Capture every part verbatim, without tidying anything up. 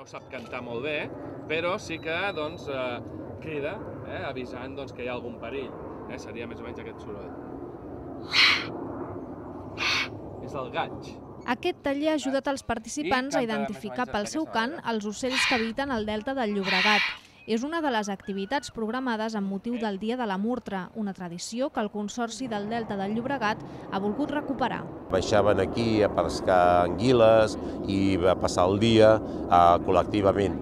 no sap cantar molt bé, però sí que doncs, eh, crida, eh, avisant doncs, que hi ha algun perill. Eh? Seria més o menys aquest soroll. És el gaig. Aquest taller ha ajudat els participants a identificar pel seu cant els ocells que habiten al delta del Llobregat. És una de les activitats programades amb motiu del Dia de la Murtra, una tradició que el Consorci del Delta del Llobregat ha volgut recuperar. Baixaven aquí a pescar anguiles i a passar el dia eh, col·lectivament.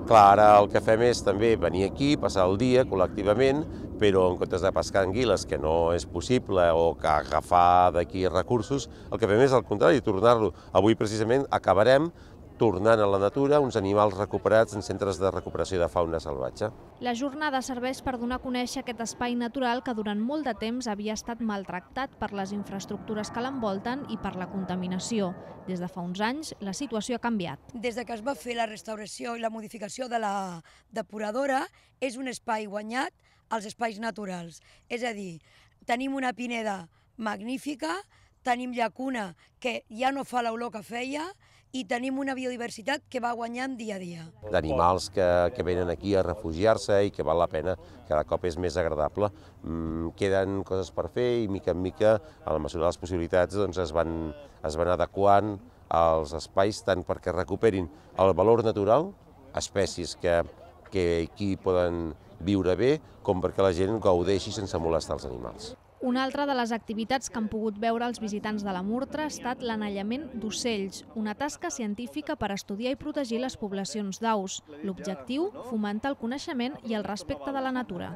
Clar, ara el que fem és també venir aquí, passar el dia col·lectivament, però en comptes de pescar anguiles, que no és possible, o que agafar d'aquí recursos, el que fem és al contrari, tornar-lo. Avui precisament acabarem tornant a la natura uns animals recuperats en centres de recuperació de fauna salvatge. La jornada serveix per donar a conèixer aquest espai natural que durant molt de temps havia estat maltractat per les infraestructures que l'envolten i per la contaminació. Des de fa uns anys, la situació ha canviat. Des que es va fer la restauració i la modificació de la depuradora, és un espai guanyat als espais naturals. És a dir, tenim una pineda magnífica, tenim llacuna que ja no fa l'olor que feia, i tenim una biodiversitat que va guanyant dia a dia. D'animals que, que venen aquí a refugiar-se i que val la pena, cada cop és més agradable. Mm, queden coses per fer i mica en mica, a la mesura de les possibilitats, doncs es van, es van adequant als espais tant perquè recuperin el valor natural, espècies que, que aquí poden viure bé, com perquè la gent gaudeixi sense molestar els animals. Una altra de les activitats que han pogut veure els visitants de la Murtra ha estat l'anellament d'ocells, una tasca científica per estudiar i protegir les poblacions d'aus. L'objectiu, fomentar el coneixement i el respecte de la natura.